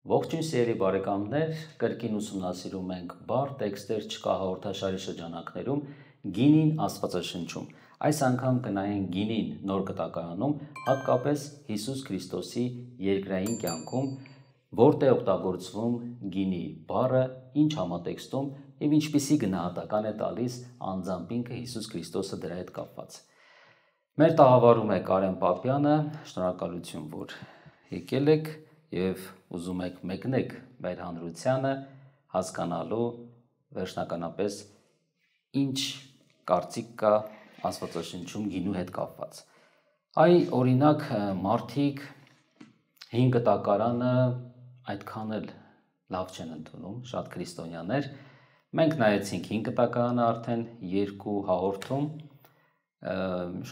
Ողջույն սիրելի բարեկամներ, կրկին ուսումնասիրում ենք բառ տեքստեր չկա հաղորդաշարի շրջանակներում գինին Աստվածաշնչում։ Այս անգամ կնայենք գինին նոր կտակարանում, հատկապես Հիսուս Քրիստոսի երկրային կյանքում, որտեղ օգտագործվում գինի բառը, ինչ համատեքստում եւ ինչպիսի գնահատական է տալիս անձամբ ինքը Հիսուս Քրիստոսը դրա հետ կապված։ Մեր տաղավարում է Կարեն Պապյանը, շնորհակալություն, որ եկել եք եւ ուզում եք մեկնեք մեր հանրությանը հասկանալու վերջնականապես ինչ կարծիք կա Աստվածաշնչում գինու հետ կապված։ Այ օրինակ մարդիկ 5 կտակարանը այդքան էլ լավ չեն ընդունում, շատ քրիստոնյաներ։ Մենք նայեցինք 5 կտակարանը արդեն 2 հաղորդում,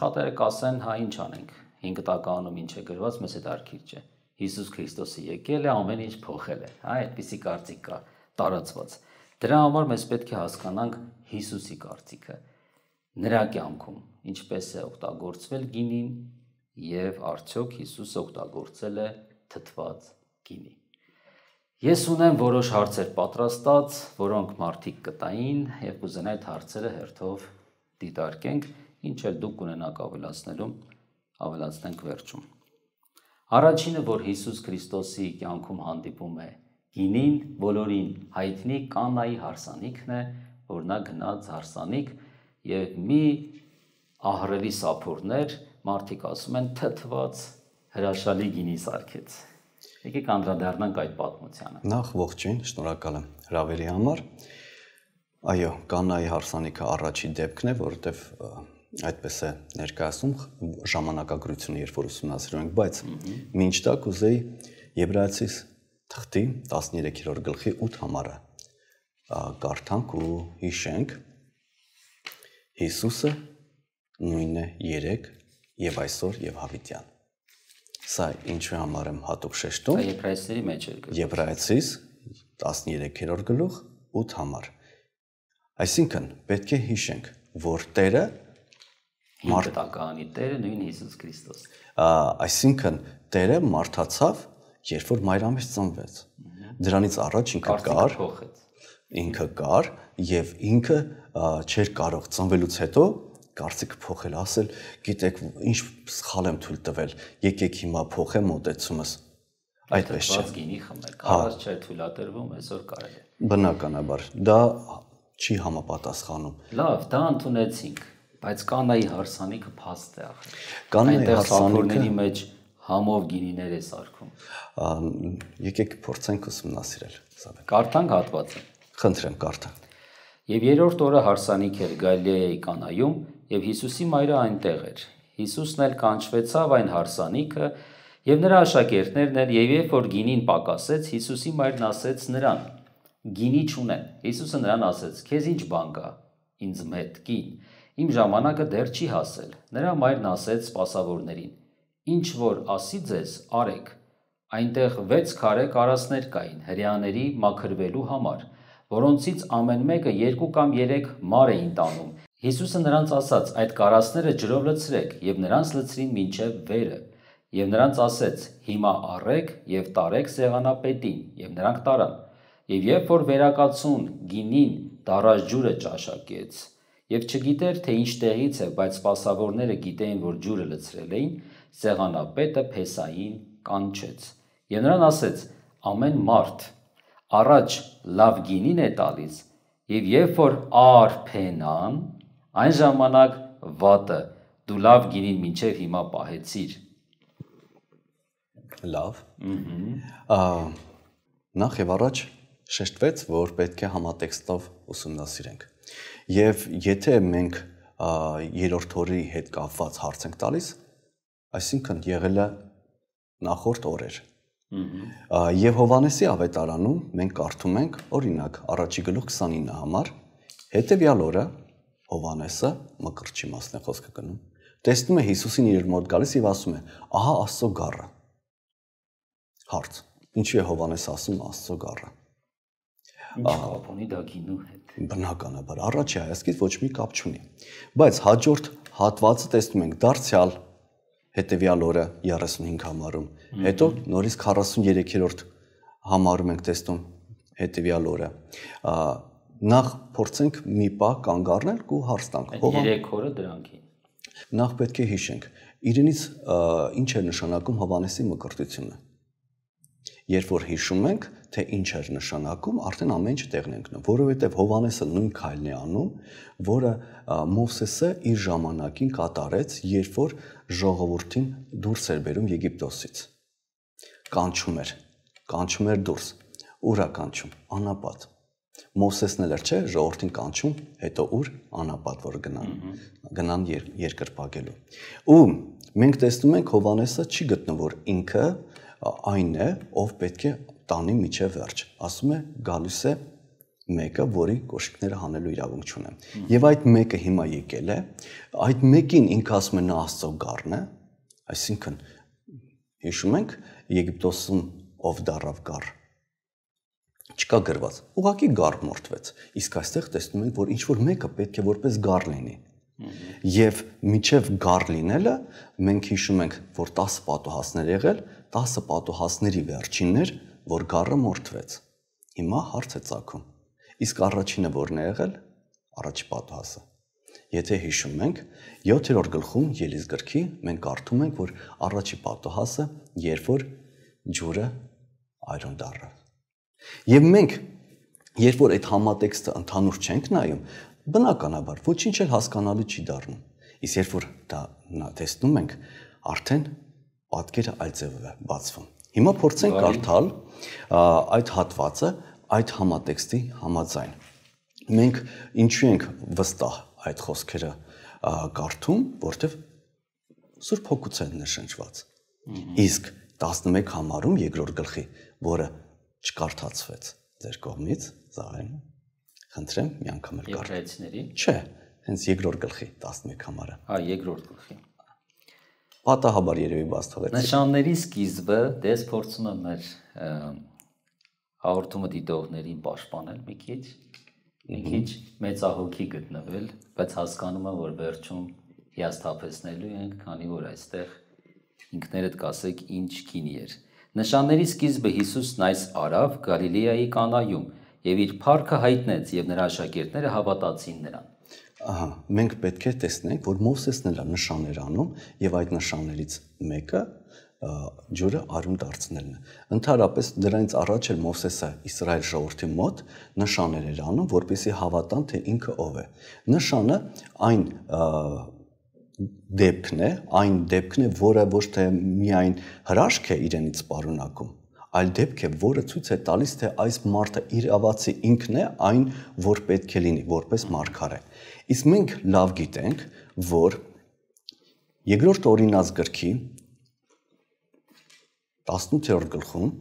շատերը կասեն, հա ինչ անենք, 5 կտակարանում ինչ է գրված, մեզ հետ արգիր չէ։ Հիսուս Քրիստոսը եկել է, ամեն ինչ փոխել է, հա, այդպիսի կարծիք կա տարածված։ Դրա համար մեզ պետք է հասկանանք Հիսուսի կարծիքը, նրա կյանքում, ինչպես է օգտագործվել գինին եւ արդյոք Հիսուսը օգտագործել է թթված գինի։ Ես ունեմ որոշ հարցեր պատրաստած, որոնք մարդիկ կտային եւ կուզենայի այդ հարցերը հերթով դիտարկենք, ինչ էլ դուք կունենաք ավելացնենք վերջում։ Առաջինը, որ Հիսուս Քրիստոսի կյանքում հանդիպում է գինին, բոլորին հայտնի Կանայի հարսանիքն է, որ նա գնաց հարսանիք եւ մի ահռելի սափորներ, մարդիկ ասում են թթված հրաշալի գինի սարքեց։ Եկեք անդրադառնանք այդ պատմությանը։ Նախ ողջույն, շնորհակալ եմ հրավերի համար։ Այո, Կանայի հարսանիքը առաջի դեպքն է, որովհետև այդպես է ներկայացնում ժամանակագրությունը, երբ որ ուսումնասիրում ենք, բայց մինչ դա կուզեի Եբրայեցիս թղթի 13-րդ գլխի 8 համարը կարդանք ու հիշենք. Հիսուսը նույնն է երեկ եւ այսօր եւ հավիտյան։ Սա ինչու համար եմ հատուկ շեշտում։ Եբրայեցիների մեջ է։ Եբրայեցիս 13-րդ գլուխ 8 համար։ Այսինքն պետք է հիշենք, որ Տերը Մարդականի Տերը նույն Հիսուս Քրիստոս։ Այսինքն Տերը մարդացավ, երբ որ մայրամից ծնվեց։ Դրանից առաջ ինքը կար եւ ինքը չէր կարող ծնվելուց հետո կարծիքը փոխել, ասել, գիտեք, ինչ սխալ եմ թույլ տվել, եկեք հիմա փոխեմ մոտեցումս։ Այդպես չէ։ Գինի խմել, կարած չէ թույլատրվում, այսօր կարելի է։ Բնականաբար, դա չի համապատասխանում։ Լավ, դա ընդունեցինք, բայց Կանայի հարսանիքը փաստ է ախր։ Կանայի հարսանիքի մեջ համով գինիներ է սարքում։ Եկեք փորձենք ուսումնասիրել։ Կարդանք հատվածը։ Խնդրեմ, կարդանք։ Եվ երրորդ օրը հարսանիք էր Գալիլեայի Կանայում, եւ Հիսուսի մայրը այնտեղ էր։ Հիսուսն էլ կանչվեցավ այն հարսանիքը, եւ նրա աշակերտներն էլ, եւ երբ որ գինին պակասեց, Հիսուսի մայրն ասեց նրան. Գինի չունեն։ Հիսուսը նրան ասեց. Քեզ ինչ բան կա ինձ հետ, կին։ Իմ ժամանակը դեռ չի հասել։ Նրա մայրն ասեց սպասավորներին. Ինչ որ ասի ձեզ, արեք։ Այնտեղ 6 քարե կարասներ կային հրեաների մաքրվելու համար, որոնցից ամեն մեկը 2 կամ 3 մար էին տանում։ Հիսուսը նրանց ասաց. այդ կարասները ջրով լցրեք, եւ նրանց լցրին մինչև վերը։ Եվ նրանց ասեց. հիմա առեք եւ տարեք սեղանապետին, եւ նրանք տարան։ Եվ երբ որ վերակացուն գինին դարաժ ջուրը ճաշակեց, եւ չգիտեր թե ինչ տեղից է, բայց սպասավորները գիտեին, որ ջուրը լցրել էին, սեղանապետը փեսային կանչեց։ Եվ նրան ասեց. ամեն մարդ առաջ լավ գինին է տալիս, եւ երբ որ արփենան, այն ժամանակ վատը դու լավ գինին մինչև հիմա պահեցիր։ Լավ։ Նախ եւ առաջ շեշտվեց, որ պետք է համատեքստով ուսումնասիրենք։ Եվ եթե մենք երրորդ օրի հետ կապված հարց ենք տալիս, այսինքն եղել է նախորդ օրեր։ Եվ Հովհաննեսի ավետարանում մենք կարդում ենք, օրինակ, առաջի գլուխ 29 համար, հետևյալ օրը Հովհաննեսը, մկրտչի մասն է խոսքը գնում, տեսնում է Հիսուսին իր մոտ գալիս եւ ասում է. ահա Աստծո գառը։ Հարց. ինչու է Հովհաննեսը ասում Աստծո գառը։ Ինչ կապ ունի դա գինու հետ։ Բնականաբար, առաջի հայացքից ոչ մի կապ չունի։ Բայց հաջորդ հատվածը տեսնում ենք դարձյալ հետևյալ օրը 35 համարում, հետո նորից 43-րդ համարում ենք տեսնում հետևյալ օրը։ Նախ փորձենք մի պահ կանգ առնել ու հարց տանք։ 3 օրը դրանք են։ Նախ պետք է հիշենք, իրենից ինչ է նշանակում Հովհաննեսի մկրտությունը։ Երբ որ հիշում ենք, թե ինչ էր նշանակում, արդեն ամեն ինչ տեղն է ընկնում, որովհետև Հովհաննեսը նույն քայլն է անում, որը Մովսեսը իր ժամանակին կատարեց, երբ որ ժողովրդին դուրս էր բերում Եգիպտոսից։ Կանչում էր դուրս։ Ուր է կանչում? Անապատ։ Մովսեսն էլ էր, չէ, ժողովրդին կանչում, հետո ուր? Անապատ, որ գնան երկրպագելու։ Ու մենք տեսնում ենք Հովհաննեսը չի գտնում, որ ինքը այն է, ով պետք է տանի միջև վերջ։ Ասում է գալիս է մեկը, որի կոշիկները հանելու իրավունք չունեն։ Եվ այդ մեկը հիմա եկել է, այդ մեկին ինքը ասում է նա Աստծո գառն է, այսինքն հիշում ենք Եգիպտոսում ով դառավ գառ։ Չկա գրված, ուղղակի գառ մորթվեց։ Իսկ այստեղ տեսնում ենք, որ ինչ որ մեկը պետք է որպես գառ լինի։ Եվ միջև գառ լինելը մենք հիշում ենք, որ 10 պատուհասներ եղել, 10 պատուհասների վերջինն էր, որ գառը մորթվեց։ Հիմա հարց է ծագում։ Իսկ առաջինը որն է եղել? Առաջի պատուհասը։ Եթե հիշում ենք, 7-րդ գլխում Ելիս գրքի մենք կարդում ենք, որ առաջի պատուհասը, երբ որ ջուրը այրուն դառավ։ Եվ մենք, երբ որ այդ համատեքստը ընդհանուր չենք նայում, բնականաբար ոչինչ էլ հասկանալի չի դառնում։ Իսկ երբ որ դա տեսնում ենք, արդեն պատկերը այլ ձևով է բացվում։ Հիմա փորձենք կարդալ այդ հատվածը այդ համատեքստի համաձայն։ Մենք ինչու ենք վստահ այդ խոսքերը կարդում, որտեղ Սուրբ Հոգուց են նշանջված։ Իսկ 11 համարում երկրորդ գլխի, որը չկարդացվեց ձեր կողմից, Զաղեն, խնդրեմ մի անգամ էլ Եբրայեցիների։ Չէ, հենց երկրորդ գլխի 11 համարը։ Երկրորդ գլխի։ Պատահաբար երևի բաց թողեց։ Նշանների սկիզբը դες փորձում եմ մեր հաղորդումը դիտողներին պաշտպանել մի քիչ մեծահոգի գտնվել, բայց հասկանում եմ, որ վերջում հիասթափեցնելու ենք, քանի որ այստեղ ինքներդ կասեք ինչ քինի էր։ Նշանների սկիզբը Հիսուսն այս արավ Գալիլեայի Կանայում եւ իր փառքը հայտնեց եւ նրա աշակերտները հավատացին նրան։ Ահա, մենք պետք է տեսնենք, որ Մովսեսն էլ նշաններ անում եւ այդ նշաններից մեկը ջուրը արյուն դարձնելն է։ Ընդհանրապես դրանից առաջ էլ Մովսեսը Իսրայել ժողովրդի մոտ նշաններ էր անում, որպեսզի հավատան, թե ինքը ով է։ Նշանը այն դեպքն է, որը ոչ թե միայն հրաշք է իրենից պարունակում, այլ դեպք է, որը ցույց է տալիս, թե այս մարդը իրավացի ինքն է այն, որ պետք է լինի, որպես մարգարե։ Իսկ մենք լավ գիտենք, որ երկրորդ օրինաց գրքի 18-րդ գլխում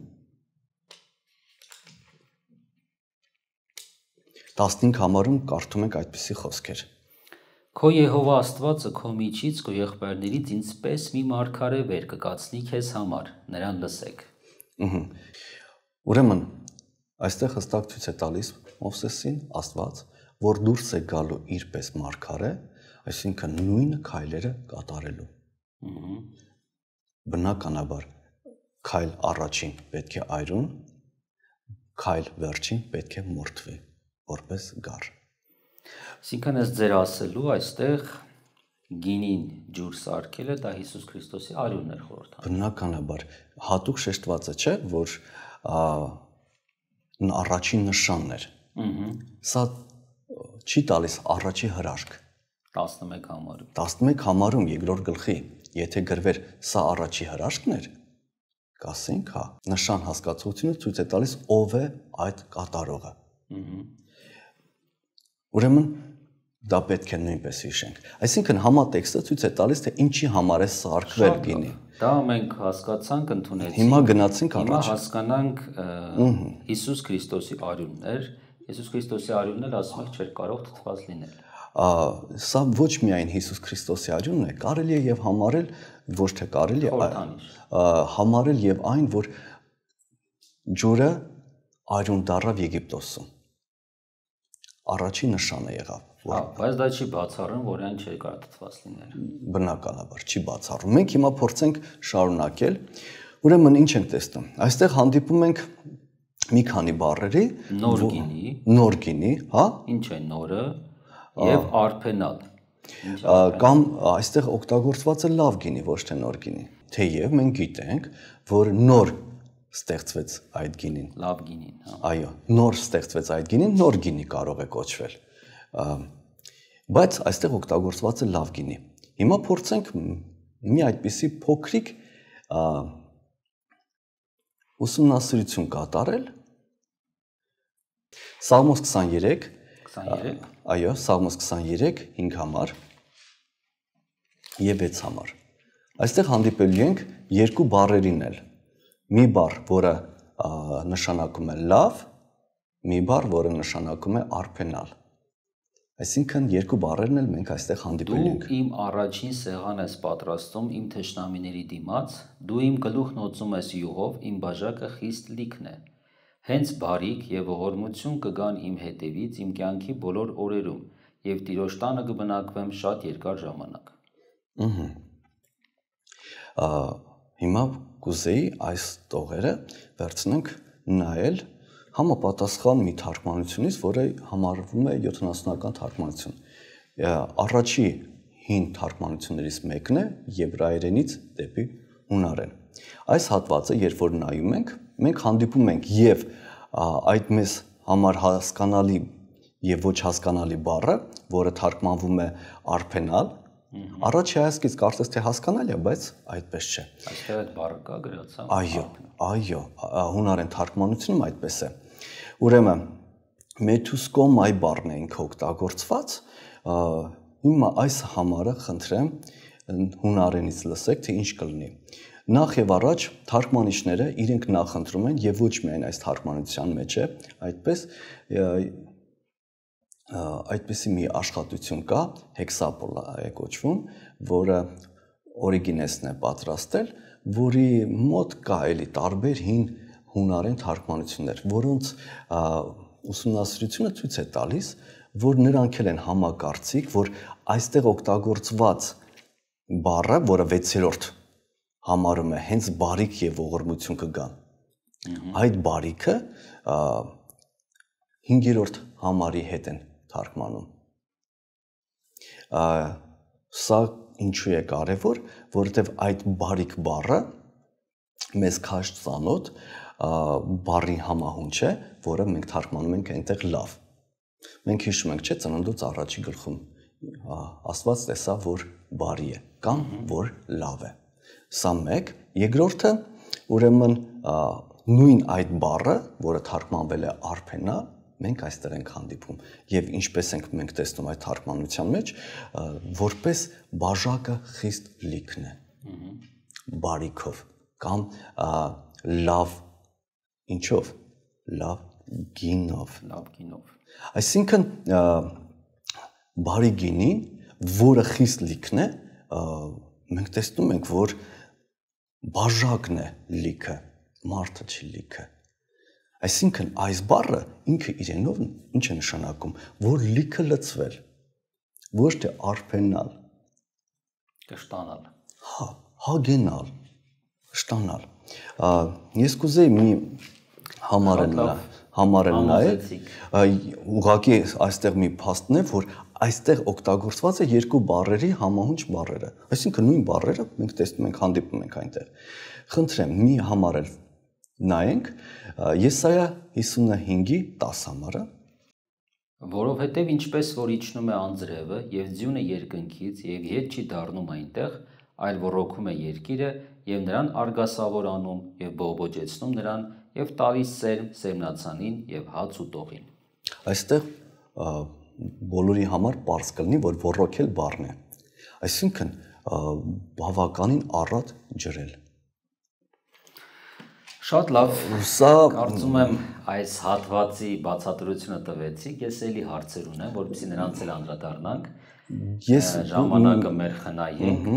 15 համարում կարդում ենք այդպիսի խոսքեր։ Քո Եհովա Աստվածը քո միջից, քո եղբայրներից ինձպես մի մարգարե վեր կկացնի քեզ համար, նրան լսեք։ Ուրեմն այստեղ հստակ ցույց է տալիս Մովսեսին Աստված, որ դուրս է գալու իրպես մարգարե, այսինքն նույն քայլերը կատարելու։ Բնականաբար քայլ առաջին պետք է այրուն, քայլ վերջին պետք է մորթվի, որպես գառ։ Այսինքն ես ձեր ասելու այստեղ գինին ջուր սարքելը դա Հիսուս Քրիստոսի արյունն էր խորհրդանում։ Բնականաբար հատուկ շեշտված է, չէ, որ առաջին նշանն էր։ Սա չի տալիս առաջի հրաշք։ 11 համարում։ 11 համարում երկրորդ գլխի, եթե գրվեր սա առաջի հրաշքն էր, կասենք, հա, նշան հասկացությունը ցույց է տալիս ով է այդ կատարողը։ Ուրեմն դա պետք է նույնպես հիշենք։ Այսինքն համատեքստը ցույց է տալիս, թե ինչի համար է սարքվել գինի։ Դա մենք հասկացանք, ընդունեցինք։ Հիմա գնացինք առաջ։ Հիմա հասկանանք Հիսուս Քրիստոսի արյունն էր։ Հիսուս Քրիստոսի արյունն էլ ասում եք չէր կարող թթված լինել։ Սա ոչ միայն Հիսուս Քրիստոսի արյունն է, կարելի է եւ համարել, ոչ թե կարելի է, համարել եւ այն, որ ջուրը արյուն դառավ Եգիպտոսում։ Առաջի նշանը եղավ։ Բայց դա չի բացառում, որ այն չէր կարող թթված լինել։ Բնականաբար չի բացառում։ Մենք հիմա փորձենք շարունակել։ Ուրեմն ինչ ենք տեսնում։ Այստեղ հանդիպում ենք մի քանի բառերի նոր գինի, հա? Ինչ է նորը եւ արփենալ։ Կամ այստեղ օգտագործված է լավ գինի, ոչ թե նոր գինի։ Թեև մենք գիտենք, որ նոր ստեղծվեց այդ գինին։ Լավ գինին, հա։ Այո, նոր ստեղծվեց այդ գինին, նոր գինի կարող է կոչվել։ Բայց այստեղ օգտագործված է լավ գինի։ Հիմա փորձենք մի այդպիսի փոքրիկ ուսումնասիրություն կատարել։ Սաղմոս 23, այո, Սաղմոս 23, 5 համար եւ 6 համար։ Այստեղ հանդիպելու ենք երկու բառերին էլ։ Մի բառ, որը նշանակում է լավ, մի բառ, որը նշանակում է արփենալ։ Այսինքն երկու բառերն էլ մենք այստեղ հանդիպելու ենք։ Դու իմ առաջին սեղան ես պատրաստում իմ թշնամիների դիմաց, դու իմ գլուխն օծում ես յուղով, իմ բաժակը խիստ լիքն է։ Հենց բարիք եւ ողորմություն կգան իմ հետևից իմ կյանքի բոլոր օրերում, եւ Տիրոջ տանը կբնակվեմ շատ երկար ժամանակ։ Հիմա կուզեի այս տողերը վերցնենք նայել համապատասխան մի թարգմանությունից, որը համարվում է 70-ական թարգմանություն։ Առաջի հին թարգմանություններից մեկն է եբրայերենից դեպի հունարեն։ Այս հատվածը, երբ որ նայում ենք, մենք հանդիպում ենք եւ այդ մեզ համար հասկանալի եւ ոչ հասկանալի բառը, որը թարգմանվում է արփենալ, առաջի հայացքից կարծես թե հասկանալի է, բայց այդպես չէ։ Այստեղ այդ բառը կա գրած, հա։ Այո, հունարեն թարգմանությունում այդպես է։ Ուրեմն մեթուսկոմայ բառն է ինքը օգտագործված։ Հիմա այս համարը խնդրեմ հունարենից լսեք, թե ինչ կլինի։ Նախ եւ առաջ թարգմանիչները իրենք նախընտրում են եւ ոչ միայն այս թարգմանության մեջ է, այդպիսի մի աշխատություն կա, հեքսապոլա է կոչվում, որը օրիգինեսն է պատրաստել, որի մոտ կա էլի տարբեր հին հունարեն թարգմանություններ, որոնց ուսումնասիրությունը ցույց է տալիս, որ նրանք են համակարծիք, որ այստեղ օգտագործված բառը, որը 6-րդ համարում է հենց բարիք եւ ողորմություն կգան։ Այդ բարիքը 5-րդ համարի հետ են թարգմանում։ Սա ինչու է կարևոր, որովհետեւ այդ բարիք բառը մեզ քաշ ծանոթ բառի համահունչ է, որը մենք թարգմանում ենք այնտեղ լավ։ Մենք հիշում ենք, չէ՞, ծննդոց առաջի գլխում Աստված տեսավ, որ բարի է կամ որ լավ է։ Սա մեկ, երկրորդը, ուրեմն նույն այդ բառը, որը թարգմանվել է արփենալ, մենք այստեղ ենք հանդիպում եւ ինչպես ենք մենք տեսնում այդ թարգմանության մեջ, որպես բաժակը խիստ լիքն է։ Բարիքով կամ լավ ինչով, լավ գինով։ Այսինքն բարի գինին, որը խիստ լիքն է, մենք տեսնում ենք, որ բաժակն է լիքը, մարդը չի լիքը։ Այսինքն այս բառը ինքը իրենով ինչ է նշանակում, որ լիքը լցվել, ոչ թե արփենալ, կշտանալ, հագենալ, շտանալ։ Ես կուզեի մի համարել նայել, ուղղակի այստեղ մի փաստն է, որ այստեղ օգտագործված է երկու բառերի համահունչ բառերը։ Այսինքն նույն բառերը մենք տեսնում ենք, հանդիպում ենք այնտեղ։ Խնդրեմ, մի համարել նայենք Եսայա 55-ի 10 համարը։ Որովհետև ինչպես որ իջնում է անձրևը եւ ձյունը երկնքից եւ ետ չի դառնում այնտեղ, այլ ռոքում է երկիրը եւ նրան արգասավորանում եւ բողբոջեցնում նրան եւ տալիս սերմ սերմնացանին եւ հաց ու տողին։ Այստեղ բոլորի համար պարզ կլինի, որ ռոքել բառն է։ Այսինքն բավականին առատ ջրել։ Շատ լավ, կարծում եմ այս հատվածի բացատրությունը տվեցիք, ես էլի հարցեր ունեմ, որպեսզի նրանց էլ անդրադառնանք, ժամանակը մեր խնայենք,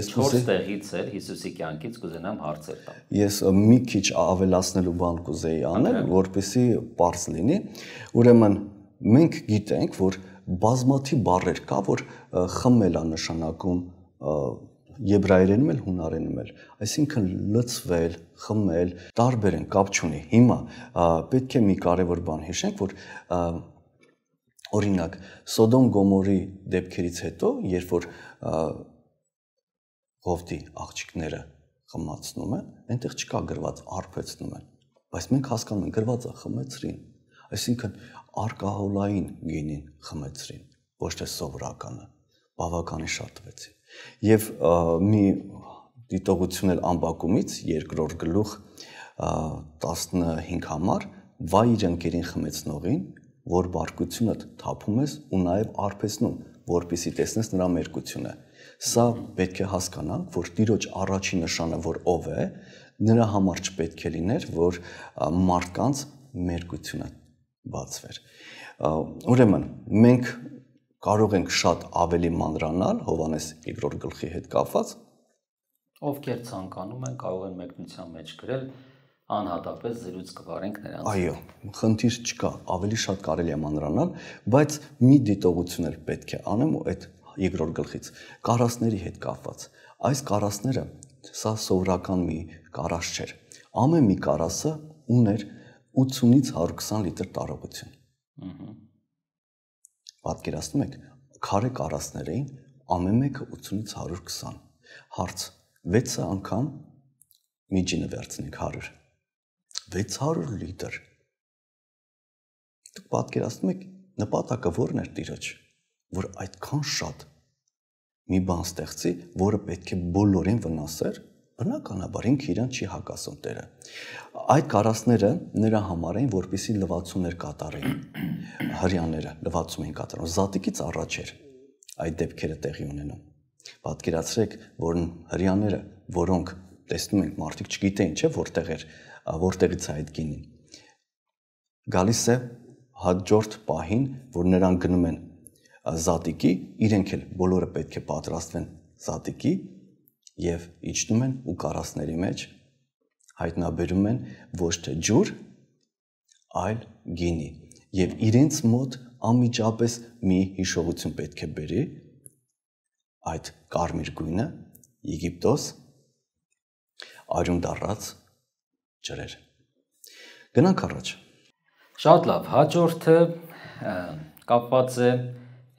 4 տեղից էլ Հիսուսի կյանքից կուզենամ հարցեր տալ։ Ես մի քիչ ավելացնելու բան կուզեի անել, որպեսզի պարզ լինի, ուրեմն մենք գիտենք, որ բազմաթիվ բառեր կա, որ խմել է նշանակում եբրայերենում էլ հունարենում էլ, այսինքն լցվել, խմել, տարբեր են, կապ չունի։ Հիմա պետք է մի կարևոր բան հիշենք, որ օրինակ Սոդոմ Գոմորի դեպքերից հետո, երբ որ Ղովտի աղջիկները խմացնում են, այնտեղ չկա գրված արբեցնում են, բայց մենք հասկանում ենք գրվածը խմեցրին, այսինքն արկահոլային գինին խմեցրին, ոչ թե սովորականը, բավականին շատ տվեցին։ Եվ մի դիտողություն էլ ամբակումից 2-րդ գլուխ 15 համար վայ իր ընկերին խմեցնողին, որ բարկությունդ թափում ես ու նաև արբեցնում, որպեսզի տեսնես նրա մերկությունը։ Սա պետք է հասկանանք, որ Տիրոջ առաջին նշանը, որ ով է, նրա համար չպետք է լիներ, որ մարդկանց մերկությունը բացվեր։ Ուրեմն մենք կարող ենք շատ ավելի մանրանալ Հովհաննես 2-րդ գլխի հետ կապված, ովքեր ցանկանում են կարող են մեկնության մեջ գրել, անհատապես զրույց կվարենք նրանց։ Այո, խնդիր չկա, ավելի շատ կարելի է մանրանալ, բայց մի դիտողություն էլ պետք է անեմ ու այդ 2-րդ գլխից կարասների հետ կապված։ Այս կարասները սա սովորական մի կարաս չէր։ Ամեն մի կարասը ուներ 80-ից 120 լիտր տարողություն։ Պատկերացնում եք, քարե կարասներ էին, ամեն մեկը 80-ից 120։ Հարց. 6 անգամ միջինը վերցնենք 100։ 600 լիտր։ Դուք պատկերացնում եք, նպատակը ո՞րն էր Տիրոջ, որ այդքան շատ մի բան ստեղծի, որը պետք է բոլորին վնասեր, բնականաբար ինքը իրան չի հակասում Տերը։ Այդ կարասները նրա համար էին, որպեսզի լվացումներ կատարեին։ Հրյաները լվացում էին կատարում։ Զատիկից առաջ էր այդ դեպքերը տեղի ունենում։ Պատկերացրեք, որ հրյաները, որոնք տեսնում ենք մարդիկ չգիտեին, չէ՞ որտեղից է այդ գինին։ Գալիս է հաջորդ պահին, որ նրանք գնում են զատիկի, իրենք էլ բոլորը պետք է պատրաստվեն զատիկի եւ իջնում են ու կարասների մեջ հայտնաբերում են ոչ թե ջուր, այլ գինի։ Եվ իրենց մոտ անմիջապես մի հիշողություն պետք է բերի այդ կարմիր գույնը, Եգիպտոս, արյուն դառած ջրեր։ Գնանք առաջ։ Շատ լավ, հաջորդը կապված է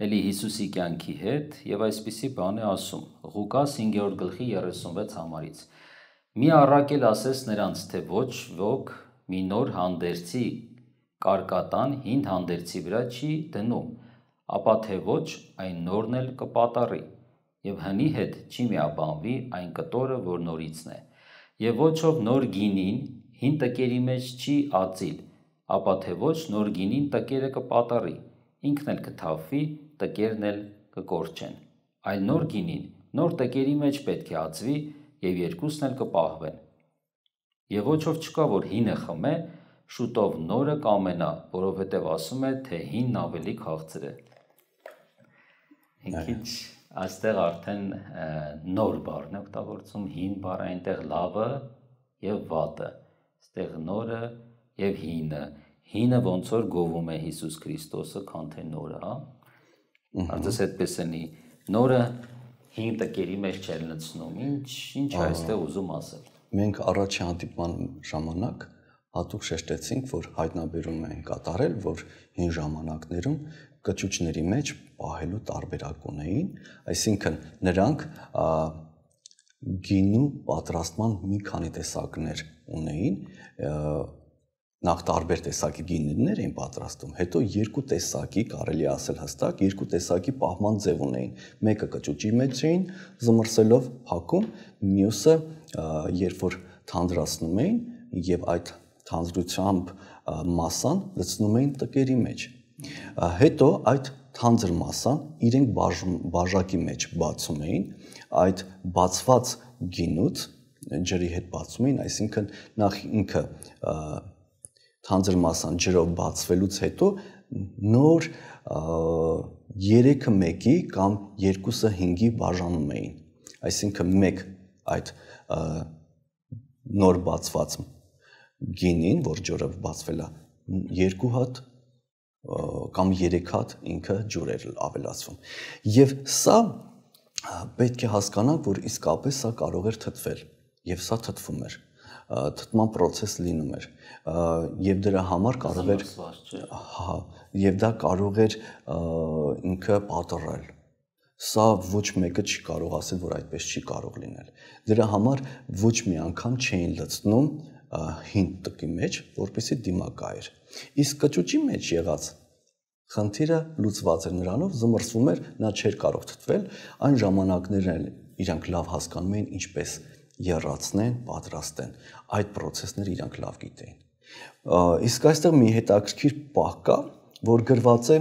էլի Հիսուսի կյանքի հետ եւ այսպիսի բան է ասում Ղուկաս 5-րդ գլխի 36 համարից։ Մի առակել ասես նրանց, թե ոչ ոք մի նոր հանդերձի կարկատան հին հանդերձի վրա չի դնում, ապա թե ոչ այն նորն էլ կպատառի եւ հնի հետ չի միաբանվի այն կտորը, որ նորիցն է։ Եվ ոչ ով նոր գինին հին տկերի մեջ չի ածիլ, ապա թե ոչ նոր գինին տկերը կպատառի, ինքն էլ կթափվի, տկերն էլ կկորչեն։ Այլ նոր գինին նոր տկերի մեջ պետք է ածվի եւ երկուսն էլ կպահվեն։ Եվ ոչ ով չկա, որ հինը խմե, շուտով նորը կամենա, որովհետև ասում է, թե հինն ավելի քաղցր է։ Ինքիչ այստեղ արդեն նոր բառն է օգտագործում, հին բառը այնտեղ լավը եւ վատը, այստեղ նորը եւ հինը։ Հինը ոնց որ գովում է Հիսուս Քրիստոսը, քան թե նորը, հա։ Արդյոք այդպես էնի նորը հին տկերի մեջ չեր լցնում, ինչ այստեղ ուզում ասել։ Մենք առաջի հանդիպման ժամանակ հատուկ շեշտեցինք, որ հայտնաբերում են կատարել, որ հին ժամանակներում կճուճների մեջ պահելու տարբերակ ունեին, այսինքն նրանք գինու պատրաստման մի քանի տեսակներ ունեին, նախ տարբեր տեսակի գինիներ էին պատրաստում, հետո երկու տեսակի, կարելի է ասել հստակ, երկու տեսակի պահման ձև ունեին։ Մեկը կճուճի մեջ էին զմռսելով փակում, մյուսը երբ որ թանձրացնում էին եւ այդ թանձրությամբ մասան լցնում էին տկերի մեջ։ Հետո այդ թանձր մասան իրենք բաժակի մեջ բացում էին, այդ բացված գինուց ջրի հետ բացում էին, այսինքն նախ ինքը թանձր մասան ջրով բացվելուց հետո նոր 3-ը 1-ի կամ 2-ը 5-ի բաժանում էին, այսինքն մեկ այդ նոր բացված գինին, որ ջրով բացվել է, 2 հատ կամ 3 հատ ինքը ջուր էր ավելացվում։ Եվ սա պետք է հասկանանք, որ իսկապես սա կարող էր թթվել եւ սա թթվում էր, թթման process լինում էր եւ դրա համար կարող էր եւ դա կարող էր ինքը պատռել։ Սա ոչ մեկը չի կարող ասել, որ այդպես չի կարող լինել։ Դրա համար ոչ մի անգամ չէին լցնում հին տկի մեջ, որպեսզի դիմակայեր։ Իսկ կճուճի մեջ եղած խնդիրը լուծված էր նրանով, զմռսվում էր, նա չէր կարող թթվել, այն ժամանակներն իրանք լավ հասկանում էին ինչպես եռացնեն, պատրաստեն։ Այդ process-ները իրանք լավ գիտեին։ Իսկ այստեղ մի հետաքրքիր պահ կա, որ գրված է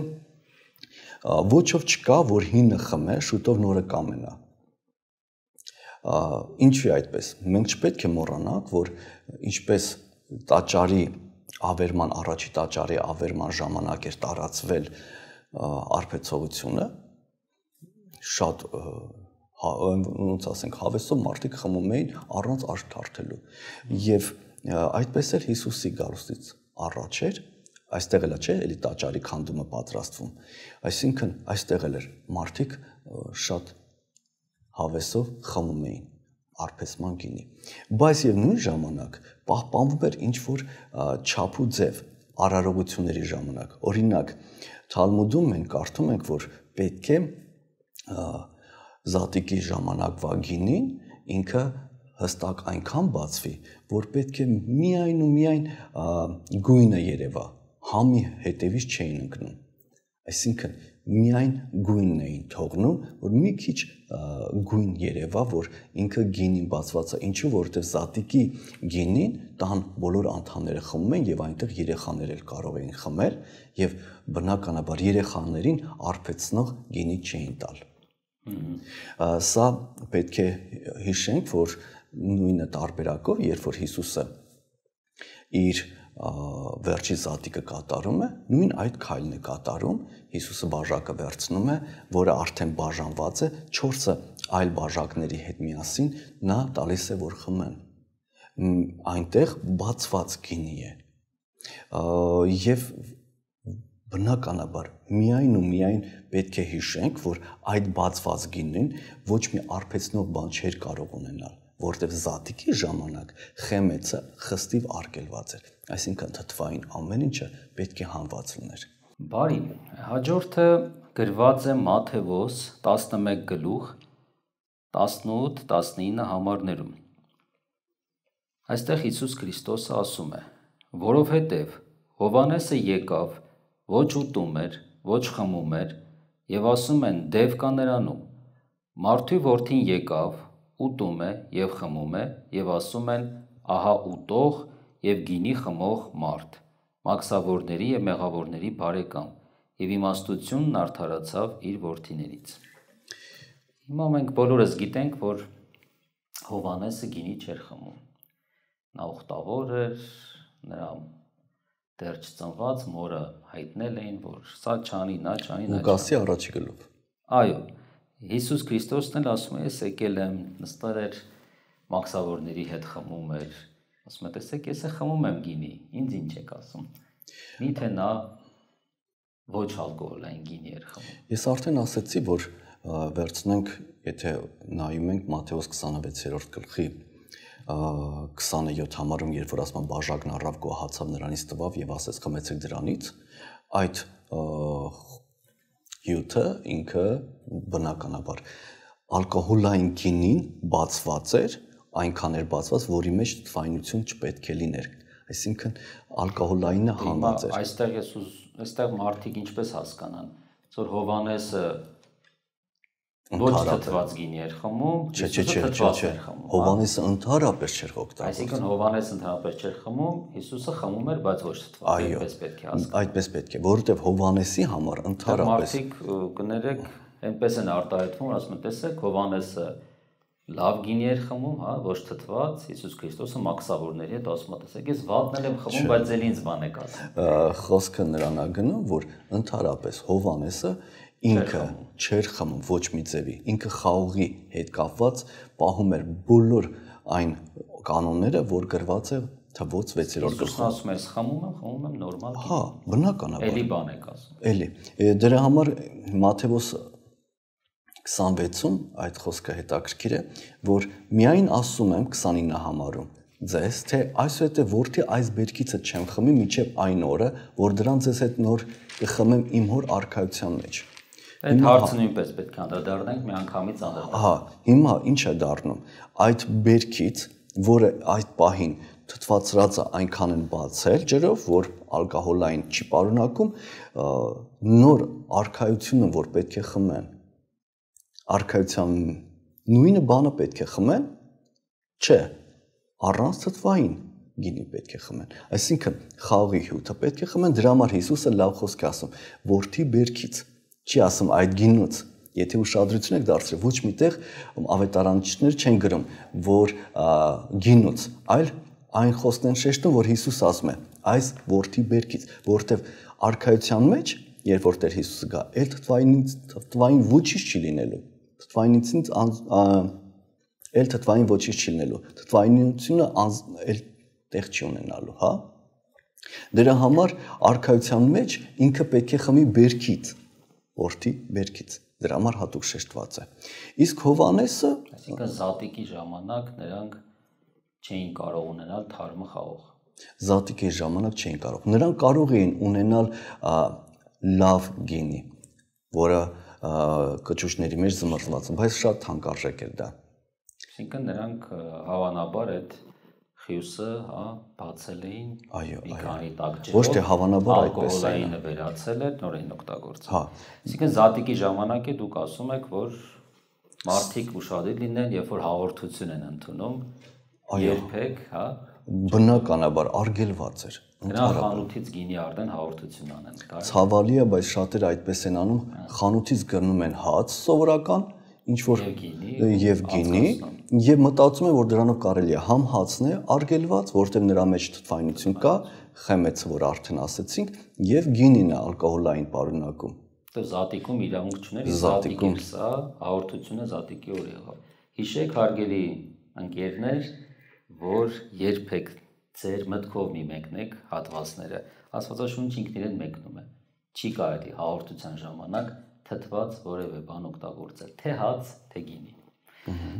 ոչով չկա, որ հինը խմե, շուտով նորը կամենա։ Ինչու է այդպես։ Մենք չպետք է մոռանանք, որ ինչպես տաճարի ավերման առաջի տաճարի ավերման ժամանակ էր տարածվել արբեցողությունը, շատ ոնց ասենք հավեսով մարդիկ խմում էին առանց աչք թարթելու։ Եվ այդպես էլ Հիսուսի գալուստից առաջ էր, այստեղ էլ չէ, էլի տաճարի քանդումը պատրաստվում։ Այսինքն այստեղ էլ էր մարդիկ շատ հավեսով խմում էին արբեցման գինի։ Բայց եւ նույն ժամանակ պահպանվում էր ինչ որ չափ ու ձև արարողությունների ժամանակ։ Օրինակ Թալմուդում մենք կարդում ենք, որ պետք է զատիկի ժամանակվա գինին ինքը հստակ այնքան բացվի, որ պետք է միայն ու միայն գույնը երևա, համի հետևից չէին ընկնում։ Այսինքն միայն գույնն էին թողնում, որ մի քիչ գույն երևա, որ ինքը գինին բացված է, ինչու որովհետև զատիկի գինին տան բոլոր անդամները խմում են եւ այնտեղ երեխաներ էլ կարող էին խմել եւ բնականաբար երեխաներին արբեցնող գինի չէին տալ։ Սա պետք է հիշենք, որ նույնը տարբերակով, երբ որ Հիսուսը իր վերջի զատիկը կատարում է, նույն այդ քայլն է կատարում, Հիսուսը բաժակը վերցնում է, որը արդեն բաժանված է, 4-ը այլ բաժակների հետ միասին նա տալիս է, որ խմեն։ Այնտեղ բացված գինի է։ Եվ բնականաբար միայն ու միայն պետք է հիշենք, որ այդ բացված գինին ոչ մի արբեցնող բան չէր կարող ունենալ, որտեղ զատիկի ժամանակ խեմեցը խստիվ արգելված էր, այսինքն թթվային ամեն ինչը պետք է հանված լիներ։ Բարի, հաջորդը գրված է Մատթեոս 11 գլուխ 18-19 համարներում։ Այստեղ Հիսուս Քրիստոսը ասում է. որովհետև Հովհաննեսը եկավ, ոչ ուտում էր, ոչ խմում էր, եւ ասում են դև կա նրանում։ Մարդու որդին եկավ, ուտում է եւ խմում է, եւ ասում են ահա ուտող եւ գինի խմող մարդ, մաքսավորների եւ մեղավորների բարեկամ, եւ իմաստությունն արդարացավ իր որդիներից։ Հիմա մենք բոլորս գիտենք, որ Հովհաննեսը գինի չէր խմում։ Նա ուխտավոր էր, նրա դեռ չծնված մորը հայտնել էին, որ սա չանի, նա չանի, նա Լուկասի առաջի գլուխ։ Այո, Հիսուս Քրիստոսն էլ ասում է, ես եկել եմ, նստել էր մաքսավորների հետ խմում էր, ասում է, տեսեք, ես խմում եմ գինի, ինձ ինչ եք ասում։ Միթե նա ոչ ալկոհոլային գինի էր խմում։ Ես արդեն ասացի, որ վերցնենք, եթե նայում ենք Մատթեոս 26-րդ գլխի 27 համարում, երբ որ ասում են բաժակն առավ գոհացավ նրանից տվավ եւ ասեց խմեցեք դրանից, այդ հյութը ինքը բնականաբար ալկոհոլային գինին բացված էր, այնքան էր բացված, որի մեջ թվայնություն չպետք է լիներ, այսինքն ալկոհոլայինը հանված էր։ Այստեղ մարդիկ ինչպես հասկանան, որ Հովհաննեսը ոչ թթված գինի էր խմում, Հիսուսը թթված էր խմում։ Հովհաննեսը ընդհանրապես չէր օգտագործում։ Այսինքն Հովհաննեսը ընդհանրապես չէր խմում, Հիսուսը խմում էր, բայց ոչ թթված, այդպես պետք է հասկանալ։ Այդպես պետք է, որովհետև Հովհաննեսի համար ընդհանրապես մարդիկ կներեք, այնպես են արտահայտվում, ասում են, տեսեք, Հովհաննեսը լավ գինի էր խմում, հա, ոչ թթված, Հիսուս Քրիստոսը մաքսավորների հետ ասում է, տեսեք, ես վատն եմ խմում, բայց ել ինձ բան եք ասում։ Խոսքը նրան է գնում, որ ընդհանրապես Հովհաննեսը ինքը չէր խմում ոչ մի ձևի, ինքը խաղողի հետ կապված պահում էր բոլոր այն կանոնները, որ գրված է թվոց 6-րդ գլխում։ Հիսուսն ասում է, ես խմում եմ նորմալ գինի։ Հա, բնականաբար։ Էլի բան եք ասում։ Էլի։ Դրա համար Մատթեոս 26-ում այդ խոսքը հետաքրքիր է, որ միայն ասում եմ 29 համարում ձեզ, թե այսուհետև որդի այս բերքիցը չեմ խմի մինչև այն օրը, որ դրան ձեզ հետ նոր կխմեմ իմ հոր արքայության մեջ։ Այդ հարցը նույնպես պետք է անդրադառնանք միանգամից անդրադառնանք։ Հա, հիմա ինչ է դառնում։ Այդ բերքից, որը այդ պահին թթվածրածը այնքան են բացել ջրով, որ ալկոհոլային չի պարունակում, նոր արքայությունը, որ պետք է խմեն, արքայության նույնը բանը պետք է խմեն, չէ, առանց թթվային գինի պետք է խմեն։ Այսինքն խաղի հյութը պետք է խմեն, դրա համար Հիսուսը լավ խոսք է ասում, որդի բերքից, չի ասում այդ գինուց։ Եթե ուշադրություն եք դարձրել, ոչ միտեղ ավետարանիչներ չեն գրում, որ գինուց, այլ այն խոսքն են շեշտում, որ Հիսուս ասում է այս որդի բերքից, որովհետև արքայության մեջ, երբ որ Տեր Հիսուսը գա, էլ թթվային ոչինչ չի լինելու։ Թթվային ոչինչ չի լինելու։ Թթվայնությունը էլ տեղ չի ունենալու, հա։ Դրա համար արքայության մեջ ինքը պետք է խմի բերքից, որդի բերքից։ Դրա համար հատուկ շեշտված է։ Իսկ Հովհաննեսը, այսինքն զատիկի ժամանակ նրանք չէին կարող ունենալ թարմը խաղող։ Զատիկի ժամանակ չէին կարող։ Նրանք կարող էին ունենալ լավ գինի, որը կճուճների մեջ զմռզված, բայց շատ թանկարժեք էր դա։ Այսինքն նրանք հավանաբար այդ խյուսը, հա, բացել էին մի քանի տակ ջրով։ Ոչ թե հավանաբար այդպես է։ Ալկոհոլային վերացել էր, նոր էին օգտագործել։ Հա։ Այսինքն զատիկի ժամանակ է դուք ասում եք, որ մարդիկ ուշադիր լինեն, երբ որ հաղորդություն են ընդունում, երբեք, հա, բնականաբար արգելված էր։ Նրանք խանութից գինի արդեն հաղորդություն անեն։ Ցավալի է, բայց շատերը այդպես են անում, խանութից գնում են հաց սովորական, ինչ որ եւ գինի, եւ մտածում են, որ դրանով կարելի է համ հացն է արգելված, որտեղ նրա մեջ թթվայնություն կա, խմեցը, որ արդեն ասեցինք, եւ գինին է ալկոհոլային պարունակում։ Դե զատիկում իրավունք չուներ, զատիկի սա հաղորդությունը զատիկի օր եղավ։ Հիշեք, հարգելի ընկերներ, որ երբեք ձեր մտքով մի մեկնեք հատվածները, Աստվածաշունչը ինքն իրեն մեկնում է։ Չի կարելի հաղորդության ժամանակ թթված որևէ բան օգտագործել, թե հաց, թե գինի։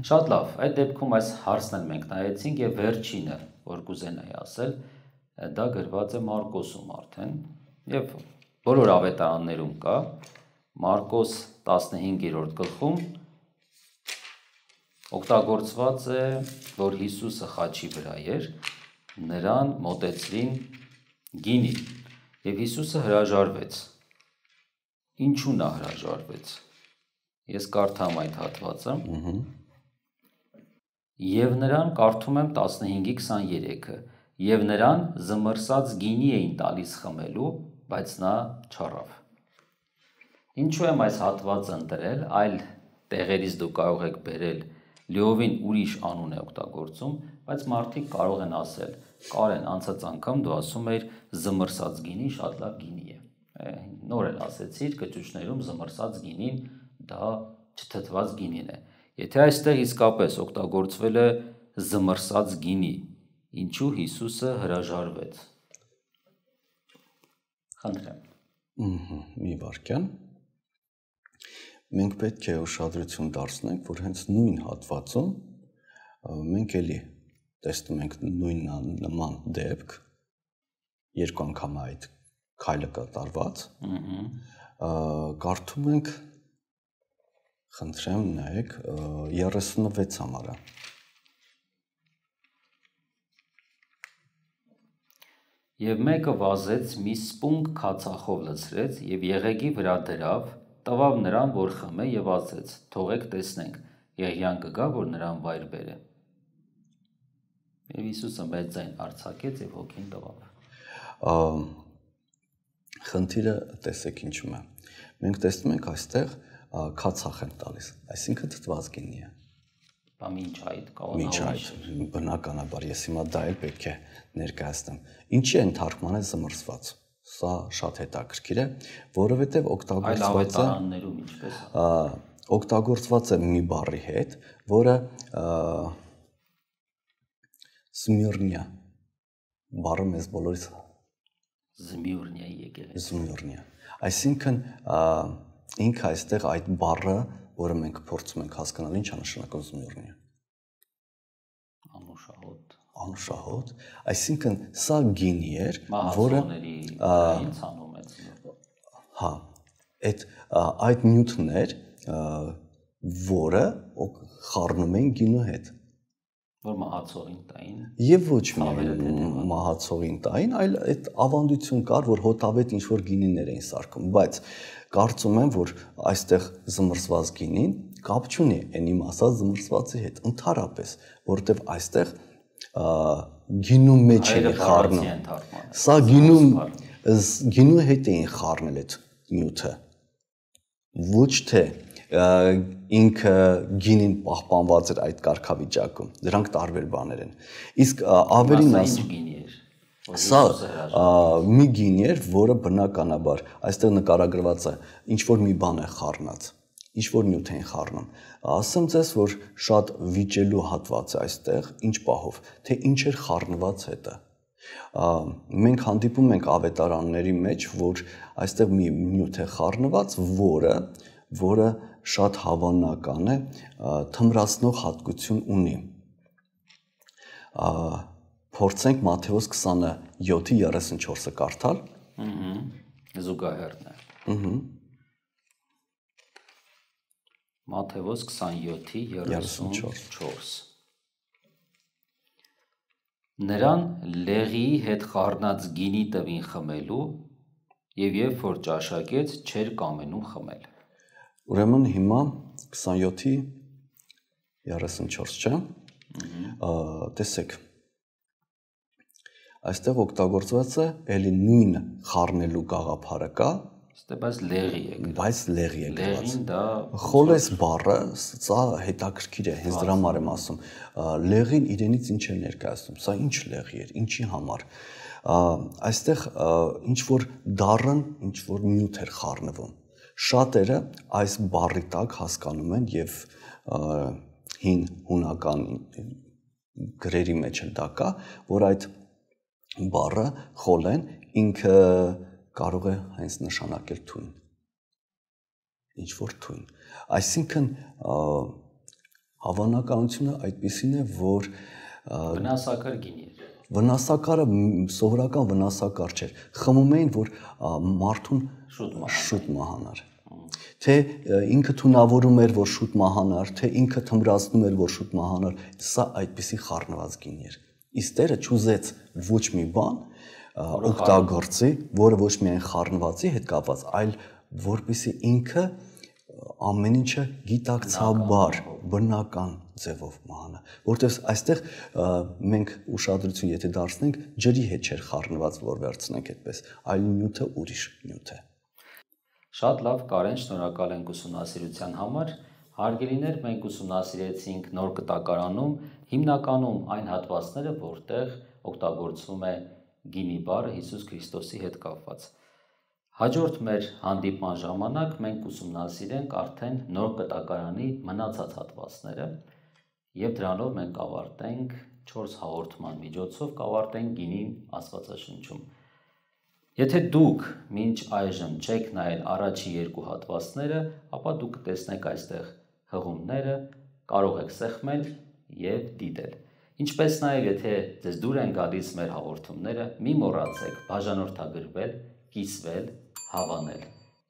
Շատ լավ, այդ դեպքում այս հարցն էլ մենք նայեցինք եւ վերջինը, որ կուզենայի ասել, դա գրված է Մարկոսում արդեն եւ բոլոր ավետարաններում կա, Մարկոս 15-րդ գլխում օգտագործված է, որ Հիսուսը խաչի վրա էր, նրան մոտեցրին գինի եւ Հիսուսը հրաժարվեց։ Ինչու նա հրաժարվեց։ Ես կարդամ այդ հատվածը։ Եվ նրան կարդում եմ 15:23-ը, եւ նրան զմռսած գինի էին տալիս խմելու, բայց նա չառավ։ Ինչու եմ այս հատվածը ընտրել, այլ տեղերից դուք կարող եք բերել լիովին ուրիշ անուն է օգտագործում, բայց մարդիկ կարող են ասել, Կարեն, անցած անգամ դու ասում էիր զմռսած գինի շատ լավ գինի է։ Նոր էլ ասեցիր, կճուճներում զմռսած գինին դա չթթված գինին է։ Եթե այստեղ իսկապես օգտագործվել է զմռսած գինի, ինչու Հիսուսը հրաժարվեց։ Խնդրեմ։ Մի վարքյան։ Մենք պետք է ուշադրություն դարձնենք, որ հենց նույն հատվածում մենք էլի տեսնում ենք նույն նման դեպք, երկու անգամ այդ քայլը կատարված, կարդում ենք, խնդրեմ նայեք, 36 համարը։ Եվ մեկը վազեց մի սպունգ քացախով լցրեց եւ եղեգի վրա դրավ, տվավ նրան, որ խմե եւ ասեց. թողեք տեսնենք, եղյան կգա, որ նրան վայր բերե։ Եվ Հիսուսը մեծ ձայն արձակեց եւ հոգին տվավ։ Խնդիրը տեսեք ինչու է։ Մենք տեսնում ենք այստեղ քացախ են տալիս, այսինքն թթված գինի է։ Բա ինչ այդ Ինչ այդ, բնականաբար ես հիմա դա էլ պետք է ներկայացնեմ։ Ինչի են թարգմանել զմռսված։ Սա շատ հետաքրքիր է, որովհետև օգտագործված է մի բառի հետ, որը Սմիրնիա բառը մեզ բոլորից Զմիրնիայի եկեղեցի։ Զմիրնիա։ Այսինքն ինքը այստեղ այդ բառը որը մենք փորձում ենք հասկանալ ինչ է նշանակում զմյուրնիը։ Անուշահոտ, այսինքն սա գինի էր, որը ցանում է։ Հա, այդ նյութն էր, որը խառնում էին գինու հետ։ Որ մահացողին տային։ Եվ ոչ միայն մահացողին տային, այլ այդ ավանդություն կար, որ հոտավետ ինչ-որ գինիներ էին սարքում, բայց կարծում եմ, որ այստեղ զմռսված գինին կապ չունի այն իմ ասած զմռսվածի հետ, ընդհանրապես, որովհետև այստեղ գինու մեջ է խառնում։ Սա գինու հետ էին խառնել այդ նյութը։ Ոչ թե ինքը գինին պահպանված էր այդ կարգավիճակում։ Դրանք տարբեր բաներ են։ Իսկ ավելին սա մի գինի էր, որը բնականաբար այստեղ նկարագրված է, ինչ որ մի բան է խառնած, ինչ որ նյութ են խառնում։ Ասեմ ձեզ, որ շատ վիճելու հատված է այստեղ, ինչ պահով, թե ինչ էր խառնված հետը։ Մենք հանդիպում ենք ավետարանների մեջ, որ այստեղ մի նյութ է խառնված, որը շատ հավանական է, թմրացնող հատկություն ունի։ Փորձենք Մատթեոս 27:34-ը կարդալ։ Զուգահեռն է։ Մատթեոս 27:34։ Նրան լեղիի հետ խառնած գինի տվին խմելու, եւ երբ որ ճաշակեց, չէր կամենում խմել։ Ուրեմն հիմա 27:34, չէ՞։ Տեսեք։ Այստեղ օգտագործված է ելի նույն խառնելու գաղափարը կա, բայց լեղի է։ Բայց լեղի է գրված։ Լեղին դա Խոլես բառը, սա հետաքրքիր է, հենց դրա համար եմ ասում։ Լեղին իրենից ինչ է ներկայացնում, սա ինչ լեղի էր, ինչի համար։ Այստեղ ինչ որ դառն, ինչ որ նյութ էր խառնվում։ Շատերը այս բառի տակ հասկանում են եւ հին հունական գրերի մեջ էլ դա կա, որ այդ բառը խոլեն ինքը կարող է հենց նշանակել թույն։ Ինչ որ թույն։ Այսինքն հավանականությունը այդպեսին է, որ վնասակար գինի էր։ Վնասակարը սովորական վնասակար չէր։ Խմում էին, որ մարդուն շուտ մահանար։ Թե ինքը թունավորում էր, որ շուտ մահանար, թե ինքը թմրացնում էր, որ շուտ մահանար, սա այդպեսի խառնված գինի էր։ Իսկ Տերը չուզեց ոչ մի բան օգտագործի, որը ոչ միայն խառնվածի հետ կապված, այլ որպեսզի ինքը ամեն ինչը գիտակցաբար, բնական ձևով մահանա, որտեղ այստեղ մենք ուշադրություն եթե դարձնենք, ջրի հետ չէր խառնված, որ վերցնենք այդպես, այլ նյութը ուրիշ նյութ է։ Շատ լավ, Կարեն, շնորհակալ ենք ուսումնասիրության համար։ Հարգելիներ, մենք ուսումնասիրեցինք նոր կտակարանում հիմնականում այն հատվածները, որտեղ օգտագործվում է գինի բառը Հիսուս Քրիստոսի հետ կապված։ Հաջորդ մեր հանդիպման ժամանակ մենք ուսումնասիրենք արդեն նոր կտակարանի մնացած հատվածները եւ դրանով մենք կավարտենք 4 հաղորդման միջոցով կավարտենք գինին Աստվածաշնչում։ Եթե դուք մինչ այժմ չեք նայել առաջի 2 հատվածները, ապա դուք կտեսնեք այստեղ հղումները, կարող եք սեղմել եւ դիտել։ Ինչպես նաեւ եթե ձեզ դուր են գալիս մեր հաղորդումները, մի մոռացեք բաժանորդագրվել, կիսվել, հավանել։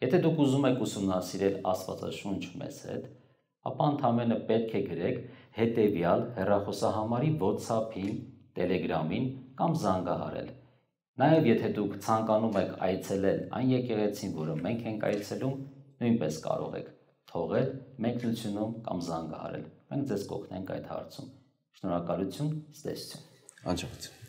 Եթե դուք ուզում եք ուսումնասիրել Աստվածաշունչ մեզ հետ, ապա ընդամենը պետք է գրեք հետևյալ հեռախոսահամարի WhatsApp-ին, Telegram-ին կամ զանգահարել։ Նաև եթե դուք ցանկանում եք այցելել այն եկեղեցին, որը մենք ենք այցելում, նույնպես կարող եք թողել մեկնությունում կամ զանգահարել։ Մենք ձեզ կօգնենք այդ հարցում։ Շնորհակալություն, ցտեսություն։ Հաջողություն։